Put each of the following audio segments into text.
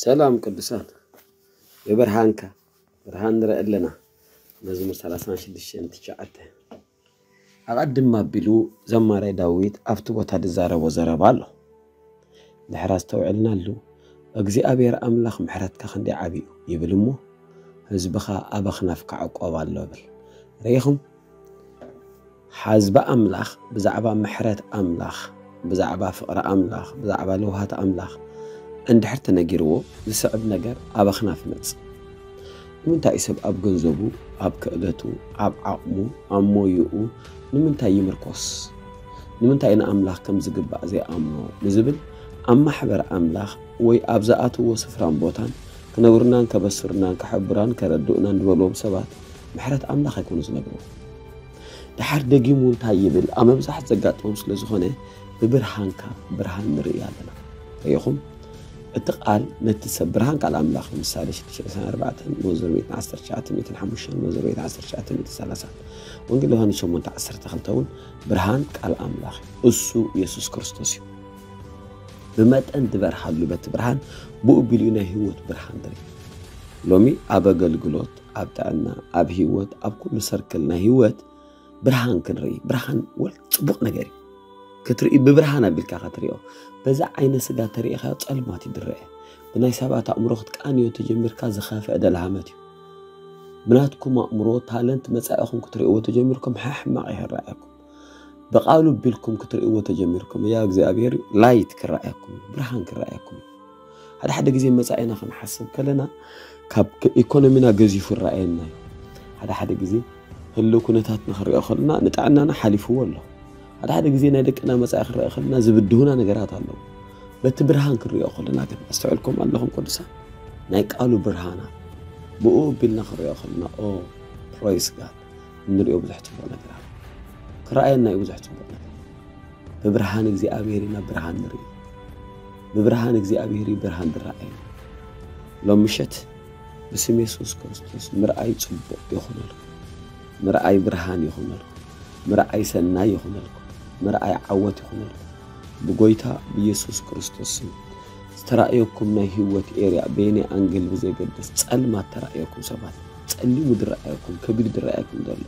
ሰላም ቅዱሳን፣ ብብርሃንካ ብርሃን ንርኢ ኣለና። መዝሙር ሰላሳ ሽዱሽተ ትሽዓተ። ኣቐድም ኣቢሉ ዘማራይ ዳዊት ኣብቲ ቦታ ዝዛረቦ ዘረባ ኣሎ። ድሕር ኣስተውዕልናሉ፣ እግዚኣብሔር ኣምላኽ ምሕረትካ ክንደይ ዓብዩ ይብል እሞ፣ ህዝብኻ ኣብ ኣኽናፍካ ዕቆብ ኣሎ ብል። ርኢኹም? ሓዝቢ ኣምላኽ ብዛዕባ ምሕረት ኣምላኽ፣ ብዛዕባ ፍቕሪ ኣምላኽ፣ ብዛዕባ ለውሃት ኣምላኽ እንድሕር ተነጊርዎ፣ ዝስዕብ ነገር ኣብ ኣኽናፍ ይመጽእ። ንምንታይ እዩ ሰብ ኣብ ገንዘቡ፣ ኣብ ክእለቱ፣ ኣብ ዓቕሙ፣ ኣብ ሞይኡ ንምንታይ ይምርኮስ? ንምንታይ ንኣምላኽ ከም ዝግባእ ዘይኣምኖ ንዝብል፣ ኣብ ማሕበር ኣምላኽ ወይ ኣብ ዝኣትዎ ስፍራን ቦታን ክነግሩናን ከበስሩናን ከሐብራን ከረድኡናን ዝበልዎም ሰባት ምሕረት ኣምላኽ ኣይኮኑ ዝነግርዎ። ደሓር ደጊሙ እንታይ ይብል? ኣብ መብዛሕት ዘጋጥሞም ስለ ዝኾነ ብብርሃንካ ብርሃን ንርኢ ኣለና። ርኢኹም? እቲ ቃል ነቲ ሰብ ብርሃን ቃል ኣምላኽ እዩ። ምሳሌ ሽዱሽተ ዕስራን ኣርባዕተን መዝሙር ሚእትን ዓሰርተ ትሽዓተ ሚእትን ሓሙሽተን መዝሙር ሚእትን ዓሰርተ ትሽዓተ ሚእትን ሰላሳን ወንጌል ዮሃንስ ሸሞንተ ዓሰርተ ክልተ እውን ብርሃን ቃል ኣምላኽ እዩ። እሱ የሱስ ክርስቶስ እዩ። ብመጠን ዝበርሃሉ በቲ ብርሃን ብኡ ቢሉ ናይ ህይወት ብርሃን ንርኢ። ሎሚ ኣብ ኣገልግሎት፣ ኣብ ጥዕና፣ ኣብ ህይወት፣ ኣብ ኩሉ ሰርክል ናይ ህይወት ብርሃን ክንርኢ። ብርሃን ወል ጽቡቕ ነገር እዩ። ክትርኢ ብብርሃን ኣቢልካ ክትሪኦ። በዛ ዓይነ ስጋ ተሪኢኻዮ ጸልማት እዩ ዝረአ። ብናይ ሰባት ኣእምሮ ክትቃንዮ ተጀሚርካ ዝኸፍአ ደልሃመት እዩ። ብናትኩም ኣእምሮ ታለንት መጻኢኹም ክትርእይዎ ተጀሚርኩም ሕሕማቕ ይረኣየኩም። ብቃሉ ቢልኩም ክትርእይዎ ተጀሚርኩም እያ እግዚኣብሔር ላይት ክረኣየኩም እዩ፣ ብርሃን ክረኣየኩም እዩ። ሓደ ሓደ ግዜ መጻኢና ክንሓስብ ከለና ካብ ክ- ኢኮኖሚና ገዚፉ ይረኣየና እዩ። ሓደ ሓደ ግዜ ህልው ኩነታትና ክንሪኦ ከለና ንጥዕናና ሓሊፍዎ ኣሎ። ሓደ ሓደ ግዜ ናይ ደቅና መጻኢ ክንሪኦ ከለና ዝብድሁና ነገራት ኣለዉ። በቲ ብርሃን ክንሪኦ ከለና ግን ኣስተውዕልኩም ኣለኹም ቅዱሳን፣ ናይ ቃሉ ብርሃና ብኡ ቢልና ክንሪኦ ከለና ኦ ፕሮይስ ጋድ እንሪኦ ብዙሕ ጽቡቕ ነገር ኣሎ። ክረኣየና እዩ ብዙሕ ጽቡቕ ነገር። ብብርሃን እግዚኣብሔር ኢና ብርሃን ንርኢ። ብብርሃን እግዚኣብሔር እዩ ብርሃን ዝረኣየና። ሎም ምሸት ብስም የሱስ ክርስቶስ ምርኣይ ጽቡቕ ይኹነልኩም። ምርኣይ ብርሃን ይኹነልኩም። ምርኣይ ሰናይ ይኹነልኩም። ምርኣይ ዓወት ይኹነልኩም። ብጎይታ ብየሱስ ክርስቶስ ስም ዝተራእየኩም ናይ ህይወት ኤርያ በየናይ ኣንግል ብዘይገድስ ጸልማት ተራእየኩም ሰባት ጸሊሙ ዝረኣየኩም ከቢድ ዝረኣየኩም ዘሎ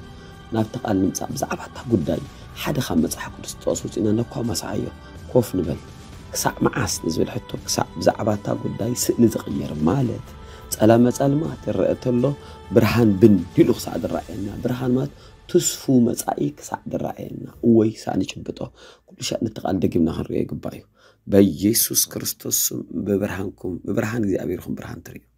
ናብቲ ቃል ንምጻእ ብዛዕባ እታ ጉዳይ ሓደ ካብ መጽሓፍ ቅዱስ ጥቕሲ ውፅእና ነኳ ማስዓዮ ኮፍ ንበል ክሳዕ መዓስ ንዝብል ሕቶ ክሳዕ ብዛዕባ እታ ጉዳይ ስእሊ ዝቕየር ማለት ጸላመ ጸልማት ይረአ ተሎ ብርሃን ብን ኢሉ ክሳዕ ዝረኣየና ብርሃን ማለት ትስፉ መጻኢ ክሳዕ ዝረኣየና እወይ ክሳዕ ንጭብጦ ኩሉ ሻዕ ነቲ ቃል ደጊምና ክንሪኦ ይግባእ እዩ በኢየሱስ ክርስቶስ ስም ብብርሃንኩም ብብርሃን እግዚኣብሔርኩም ብርሃን ትርእዩ